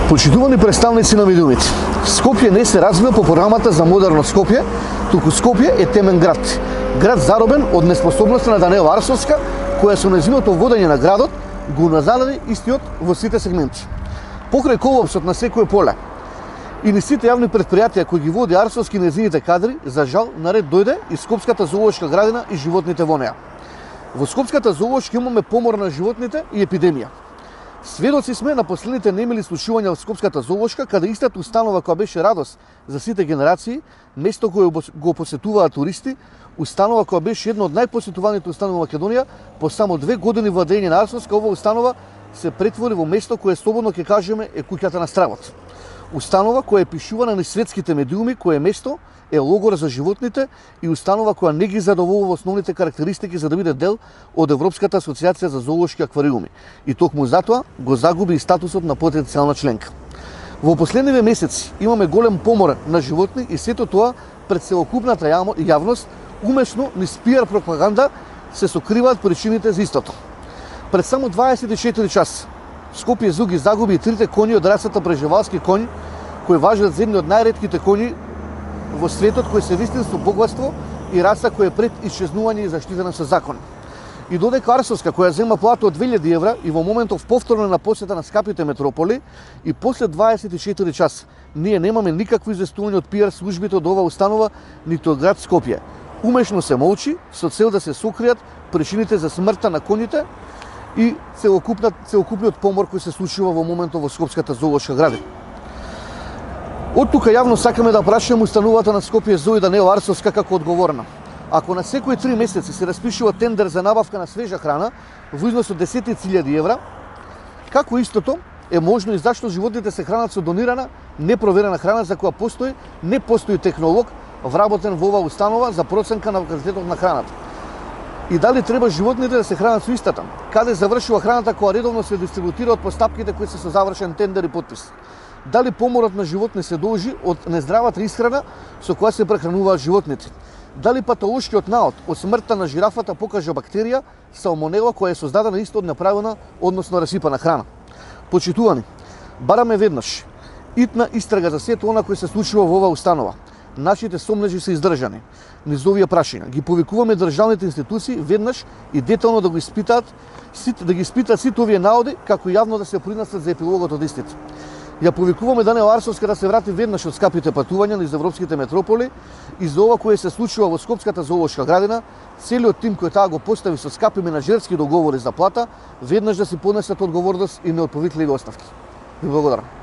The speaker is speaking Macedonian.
Почитувани представници на медиумите, Скопје не се развива по програмата за модерно Скопје, туку Скопје е темен град. Град заробен од неспособноста на Даниела Арсовска, која со нејзиното водење на градот го назададе истиот во сите сегменти. Покрај колапсот на секое поле и на сите јавни предпријатија кои ги води Арсовски нејзините кадри, за жал наред дојде и Скопската зоолошка градина и животните во неа. Во Скопската зоолошка имаме помор на животните и епидемија. Сведоци сме на последните немили случувања во Скопската зоолошка, каде истата установа која беше радост за сите генерации, место кое го посетуваат туристи, установа која беше една од најпосетуваните установи во Македонија, по само 2 години владење на Арсовска, ова установа се претвори во место кое слободно ќе кажеме е куќата на стравот. Установа која е пишувана на светските медиуми, кое место е логор за животните и установа која не ги задоволува основните карактеристики за да биде дел од Европската асоциација за зоолошки аквариуми и токму затоа го загуби и статусот на потенцијална членка. Во последниве месеци имаме голем помор на животни и сето тоа пред целокупната јавност умешно низ пиар пропаганда се сокриваат причините за истото. Пред само 24 часа Скопје Зу ги загуби и 3 коњи од расата преживалски коњ, кои важат за едни од најретките коњи во светот, кој се вистинско богатство и раса која е пред исчезнување и заштитена со закон. И додека Арсовска, која зема плата од 2000 евра и во моментов повторно на посета на скапите метрополи, и после 24 часа ние немаме никакво известување од пиар службите од ова установа, ниту од град Скопје. Умешно се молчи со цел да се сокријат причините за смртта на коњите и целокупниот помор кој се случува во моментот во Скопската зоолошка градина. Од тука јавно сакаме да прашаме установата на Скопје Зоо и Даниела Арсовска како одговорна. Ако на секои 3 месеци се распишува тендер за набавка на свежа храна во износ од 10.000 евра, како истото е можно и зашто животните се хранат со донирана, непроверена храна за која не постои технолог вработен во оваа установа за проценка на квалитетот на храната. И дали треба животните да се хранат со истата? Каде завршува храната која редовно се дистрибутира од постапките кои се со завршен тендер и подпис? Дали поморот на животни се должи од нездравата исхрана со која се прехрануваат животните? Дали патолошкиот наод од смртта на жирафата покажа бактерија салмонела која е создадена исто од неправилна, односно расипана храна? Почитувани, бараме веднаш итна истрага за сето она кој се случува во оваа установа. Нашите сомнежи се издржани. Низ овие прашања ги повикуваме државните институции веднаш и детално да ги испитаат сите овие наоди, како јавно да се принесат за епилогот од истите. Ја повикуваме Даниела Арсовска да се врати веднаш од скапите патувања низ европските метрополи и за ова кое се случува во Скопската зоолошка градина, целиот тим кој таа го постави со скапи менаџерски договори за плата, веднаш да си понесат одговорност и неотповитливи оставки. Ви благодарам.